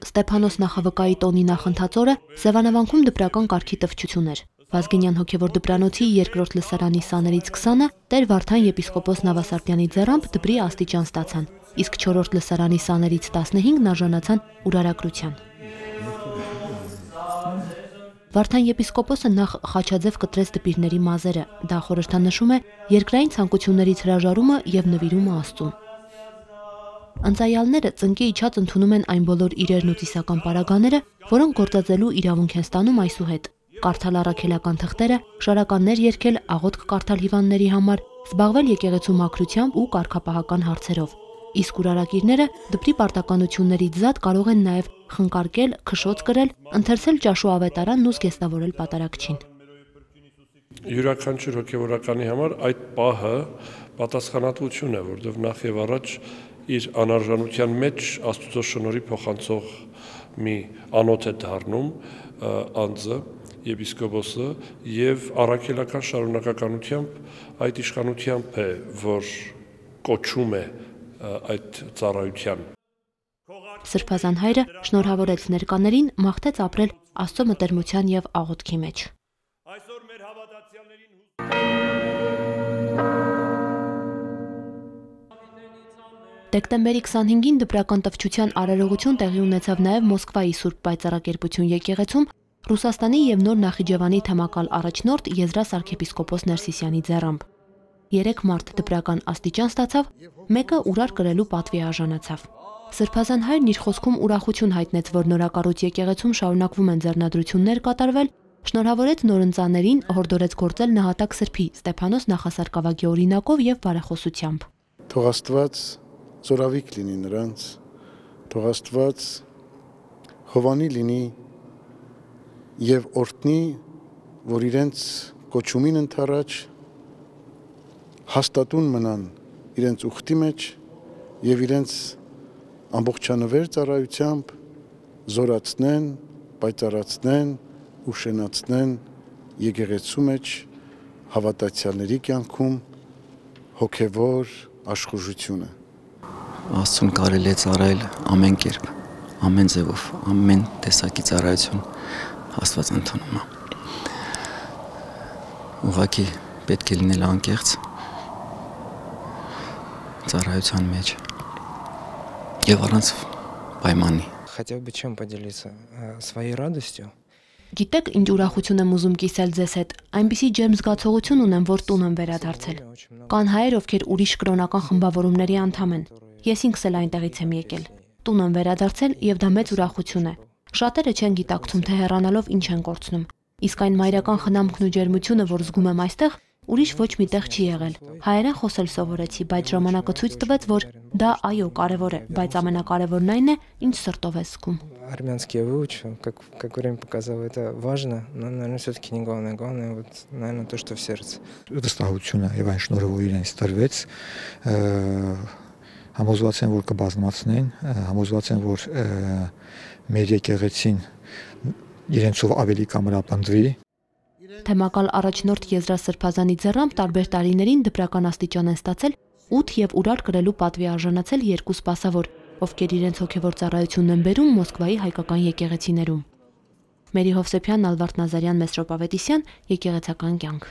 Ստեփանոս նախավկայի տոնի նախընթաց օրը Սևանավանքում դպրական կարգի տվչություն էր։ Վազգենյան հոգևոր դպրանոցի երկրորդ լսարանի սաներից 20-ը Տեր Վարդան եպիսկոպոս Նավասարդյանի ձեռամբ դպրի աստիճան ստացան, իսկ 4-րդ լսարանի սաներից 15-ն արժանացան ուրարակրության։ Վարդան եպիսկոպոսը նախ խաչաձև կտրեց դպիրների մազերը, դա խորհրդանշում է երկրային ցանկություններից հրաժարումը եւ նվիրումը Աստծուն։ Ընծայալները ծնկի իջած ընդունում են այն բոլոր իրերն ու ծիսական պարագաները, որոնք գործածելու իրավունք են ստանում այսուհետ։ Կարդալ առաքելական թղթերը, շարականներ երգել, աղոթք կարդալ հիվանդների համար, զբաղվել եկեղեցու մաքրությամբ ու կարգապահական հարցերով։ Իսկ ուրարակիրները դպրի պարտականություններից զատ կարող են նաև խնկարկել, քշոց կրել, ընթերցել ճաշու ավետարանն ու զգեստավորել պատարագչին։ Յուրաքանչյուր հոգևորականի համար այդ պահը պատասխանատվություն է, որովհետև նախ եւ առաջ իր անարժանության մեջ Աստծո շնորհի փոխանցող մի անոթ է դառնում անձը, եպիսկոպոսը եւ առաքելական շարունակականությամբ այդ իշխանությամբ է, որ կոչում է այդ ծառայության։ Սրբազան հայրը շնորհավորեց ներկաներին, մաղթեց ապրել Աստծո մտերմության եւ աղոթքի մեջ։ Դեկտեմբերի 25-ին դպրական տվչության արարողություն տեղի ունեցավ նաև Մոսկվայի Սուրբ Պայծառակերպություն եկեղեցում Ռուսաստանի եւ Նոր Նախիջևանի թեմակալ առաջնորդ Եզրաս arczepiskopos Ներսիսյանի ձեռամբ։ 3 մարդ դպրական աստիճան ստացավ, մեկը ուրար կրելու պատվի արժանացավ։ Սրբազան հայրն իր խոսքում ուրախություն հայտնեց, որ նորակառույց եկեղեցում շարունակվում են ձեռնադրություններ կատարվել, շնորհավորեց նորընծաներին, հորդորեց գործել նահատակ սրբի Ստեփանոս նախասարկավագի օրինակով եւ բարեխոսությամբ։ Թող Աստված զորավիք լինի նրանց, թող Աստված հովանի լինի եւ օրհնի, որ իրենց կոչումին ընթരാճ հաստատուն մնան իրենց ուխտի մեջ եւ իրենց ամբողջանվեր ծառայությամբ զորացնեն, պայծառացնեն ու շենացնեն եկեղեցու մեջ հավատացյալների կյանքում հոգևոր աշխուժությունը։ Աստծուն կարելի է ծառայել ամեն կերպ, ամեն ձևով, ամեն տեսակի ծառայություն Աստված ընդունում է։ Ուղղակի պետք է լինել անկեղծ ծառայության մեջ եւ առանց պայմանի։ Хотел бы чем поделиться своей радостью. Գիտեք, ինչ ուրախություն եմ ուզում կիսել ձեզ հետ, այնպիսի ջերմ զգացողություն ունեմ, որ տուն եմ վերադարձել։ Կան հայեր, ովքեր ուրիշ կրոնական խմբավորումների անդամ են։ Ես ինքս էլ այնտեղից եմ եկել։ Տուն եմ վերադարձել եւ դա մեծ ուրախություն է։ Շատերը չեն գիտակցում, թե հեռանալով ինչ են կորցնում։ Իսկ այն մայրական խնամքն ու ջերմությունը, որ զգում եմ այստեղ, ուրիշ ոչ մի տեղ չի եղել։ Հայերեն խոսել սովորեցի, բայց ժամանակը ցույց տվեց, որ դա այո, կարևոր է, բայց ամենակարևորն այն է, ինչ սրտով է զգում։ Армянский я выучил, как время показало, это важно, но, наверное, все-таки не главное. Главное, вот, наверное, то, что в сердце. Վստահությունը եւ այն շնորհը, որ իրենց տրվեց, համոզված են, որ կբազմացնեն, համոզված են, որ մեր եկեղեցին իրենցով ավելի կամրապնդվի։ Թեմակալ առաջնորդ Եզրաս Սրբազանի ձեռամբ տարբեր տարիներին դպրական աստիճան են ստացել 8 եւ ուրար կրելու պատվի արժանացել 2 սպասավոր, ովքեր իրենց հոգևոր ծառայությունն են բերում Մոսկվայի հայկական եկեղեցիներում։ Մերի Հովսեփյան, Ալվարդ Նազարյան, Մեսրոպ Ավետիսյան, եկեղեցական կյանք։